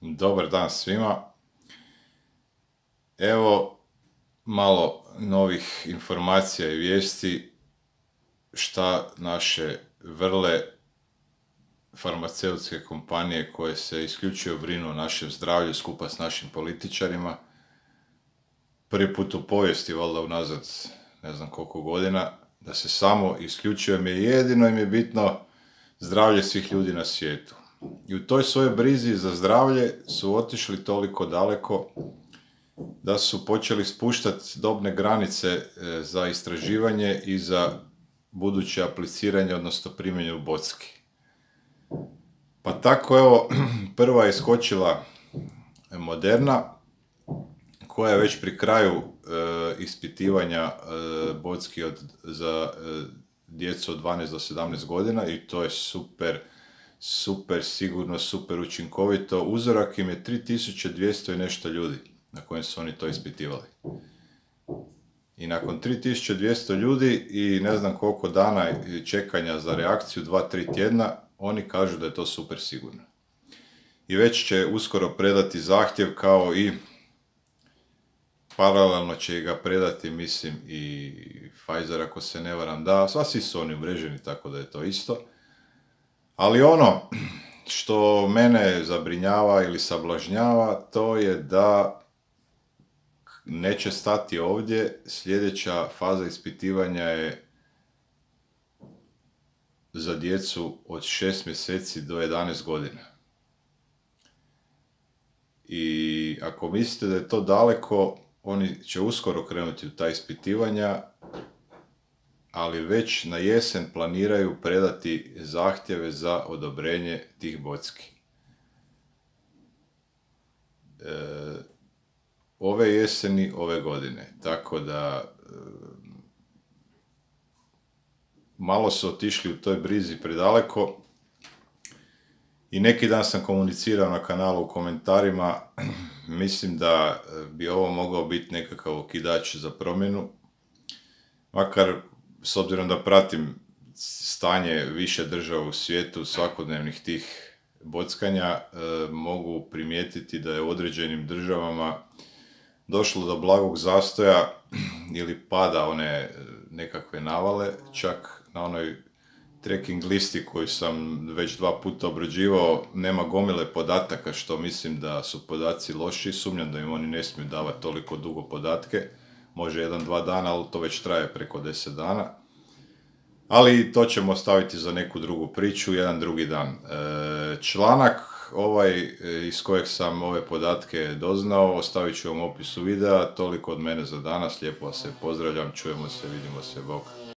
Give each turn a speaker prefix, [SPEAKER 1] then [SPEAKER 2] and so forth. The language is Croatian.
[SPEAKER 1] Dobar dan svima. Evo malo novih informacija i vijesti šta naše vrle farmaceutske kompanije koje se isključivo brinu o našem zdravlju skupa s našim političarima. Prvi put u povijesti, valjda unazad ne znam koliko godina, da se samo isključivo jedino im je bitno zdravlje svih ljudi na svijetu. I u toj svojoj brizi za zdravlje su otišli toliko daleko da su počeli spuštati dobne granice za istraživanje i za buduće apliciranje, odnosno primjenju bocki. Pa tako evo, prva je iskočila Moderna, koja je već pri kraju ispitivanja bocki za djecu od 12 do 17 godina i to je super sigurno, super učinkovito. Uzorak im je 3200 i nešto ljudi na kojem su oni to ispitivali. I nakon 3200 ljudi i ne znam koliko dana čekanja za reakciju, 2-3 tjedna, oni kažu da je to super sigurno. I već će uskoro predati zahtjev, kao i paralelno će ga predati, mislim, i Pfizer, ako se ne varam, da, svi su oni umreženi, tako da je to isto. Ali ono što mene zabrinjava ili sablažnjava, to je da neće stati ovdje. Sljedeća faza ispitivanja je za djecu od 6 mjeseci do 11 godina. I ako mislite da je to daleko, oni će uskoro krenuti u ta ispitivanja, ali već na jesen planiraju predati zahtjeve za odobrenje tih bocki. Ove jeseni, ove godine. Tako da malo su otišli u toj brizi predaleko i neki dan sam komunicirao na kanalu u komentarima, mislim da bi ovo mogao biti nekakav okidač za promjenu, makar s obzirom da pratim stanje više država u svijetu, svakodnevnih tih bockanja, mogu primijetiti da je u određenim državama došlo do blagog zastoja ili pada one nekakve navale. Čak na onoj tracking listi koju sam već 2 puta obrađivao nema gomile podataka, što mislim da su podaci loši. Sumnjam da im oni ne smiju davati toliko dugo podatke, može 1-2 dana, ali to već traje preko 10 dana. Ali to ćemo ostaviti za neku drugu priču, jedan drugi dan. Članak iz kojeg sam ove podatke doznao ostavit ću vam u opisu videa. Toliko od mene za danas, lijepo vas se pozdravljam, čujemo se, vidimo se, bok.